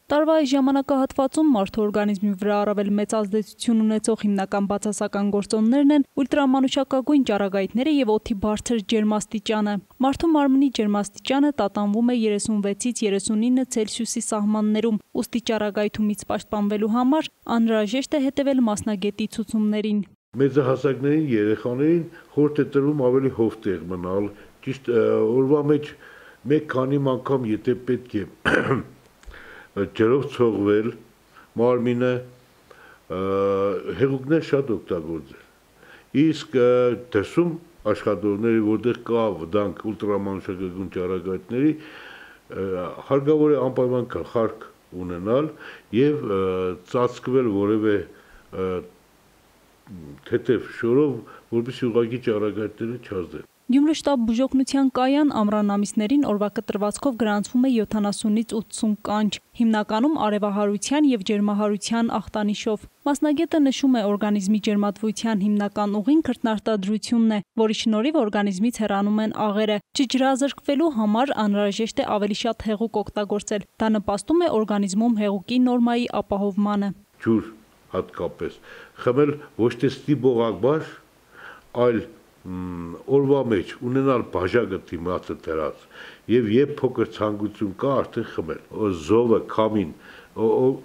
Տարվա այս ժամանակահատվածում մարդու օրգանիզմի վրա առավել մեծ ազդեցություն ունեցող հիմնական բացասական գործոններն են ուլտրամանուշակագույն ճառագայթները եւ օդի բարձր ջերմաստիճանը։ Մարդու մարմնի ջերմաստիճանը տատանվում է 36-ից 39 Ցելսիուսի սահմաններում, ուստի ճառագայթումից պաշտպանվելու համար անհրաժեշտ է հետևել մասնագետի ցուցումներին։ Մեծահասակներին երեխաներին խորհուրդ է տրվում ավելի հով տեղ մնալ, ճիշտ օրվա մեջ մեկ քանի անգամ եթե պետք է ջրով ցողվել, մարմինը հեղուկներ շատ օգտագործել։ Իսկ դրսում աշխատողների, որտեղ կա վտանգ ուլտրամանուշակագույն ճառագայթների, հարկավոր է անպայման գլխարկ ունենալ եւ ծածկվել որևէ թեթև շորով, որպեսզի ուղղակի ճառագայթները չազդեն։ Գյումրի շտաբ բուժօգնության կայան ամռան ամիսներին օրվա կտրվածքով գրանցվում է 70-ից 80 կանչ, հիմնականում արևահարության եւ ջերմահարության ախտանիշով։ Մասնագետը նշում է օրգանիզմի ջերմատվության հիմնական ուղին քրտնարտադրությունն է, որի շնորհիվ օրգանիզմից հեռանում են աղերը։ Չջրազրկվելու համար անհրաժեշտ է ավելի շատ հեղուկ օգտագործել։ Դա նպաստում է օրգանիզմում հեղուկի նորմայի ապահովմանը։ Ջուր հատկապես խմել ոչ թե ստիպողաբար, այլ օրվա մեջ ունենալ բաժակը դիմացը դրած եւ երբ փոքր ցանկություն կա արդեն խմել զովը քամին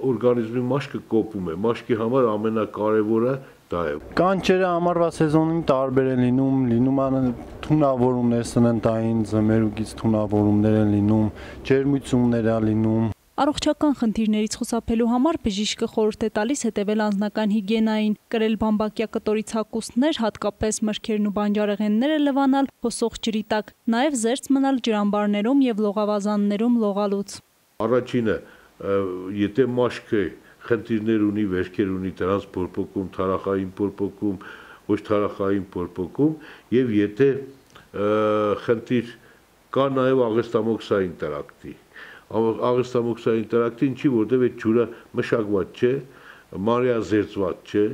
օրգանիզմի մաշկը կոպում է մաշկի համար ամենակարևորը դա է կանչերը ամառվա սեզոնին տարբեր են լինում են թունավորումներ սննդային ձմերուկից թունավորումներ են լինում ջերմություններ են լինում Առողջական խնդիրներից խուսափելու համար բժիշկը խորհուրդ է տալիս հետևել անձնական հիգիենային, կրել բամբակյա կտորի ցակուսներ, հատկապես մրգերն ու բանջարեղենները լվանալ հոսող ջրի տակ, նաև զերծ մնալ ջրամբարներում եւ լողավազաններում լողալուց։ Առաջինը, եթե մաշկը խնդիրներ ունի, վերքեր ունի, դրանց փորփոքում, թարախային փորփոքում, ոչ թարախային փորփոքում եւ եթե խնդիր կա նաև աղեստամոքսային տրակտի աղեստամոքսային տրակտի ինչի որտեղ այդ ջուրը մշակված չէ, մանրեազերծված չէ,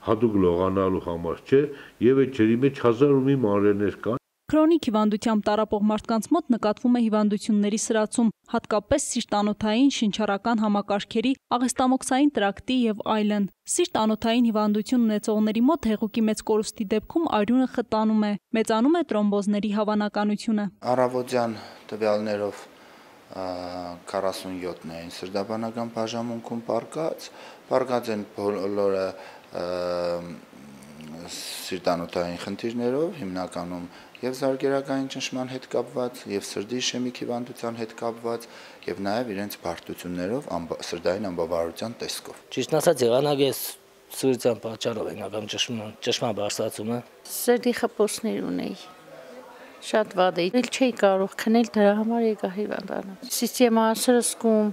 հատուկ լողանալու համար չէ եւ այդ ջրի մեջ հազար ու մի մանրեներ կան։ Քրոնիկ հիվանդությամբ տառապող մարդկանց մոտ նկատվում է հիվանդությունների սրացում, հատկապես սիրտ-անոթային, շնչառական համակարգերի, աղեստամոքսային տրակտի եւ այլն։ Սիրտ-անոթային հիվանդություն ունեցողների մոտ հեղուկի մեծ կորուստի դեպքում արյունը խտանում է, մեծանում է տրոմբոզների հավանականությունը։ Առավոտյան տվյալներով 47-ին սրտաբանական բաժանմունքում պարկած են բոլորը սիրտանոթային խնդիրներով, հիմնականում եւ զարգերակային ճնշման հետ կապված, եւ սրտի իշեմիկ հիվանդության հետ կապված, եւ նաեւ իրենց բարդություններով սրտային անբավարարության տեսքով։ Ճիշտ ասած, եղանակես սուրության պատճառով ենական ճշմարտ բարձրացումը։ Սրտի խփոսներ ունեի։ Շատ վատ է, էլ չէի կարող քնել, դրա համար եկա հիվանդանալ։ Սիստեմա սրսկում,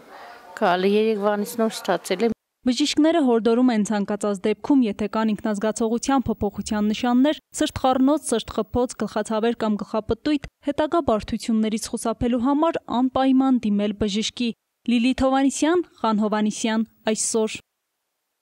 գալի երեկվանից նոր ստացել եմ։ Բժիշկները հորդորում են ցանկացած դեպքում, եթե կան ինքնազգացողության փոփոխության նշաններ, սրտխառնոց, սրտխփոց, գլխացավեր կամ գլխապտույտ, հետագա բարդություններից խուսափելու համար անպայման դիմել բժշկի։ Լիլիթ Հովհաննիսյան, Խան Հովհաննիսյան, Այսօր։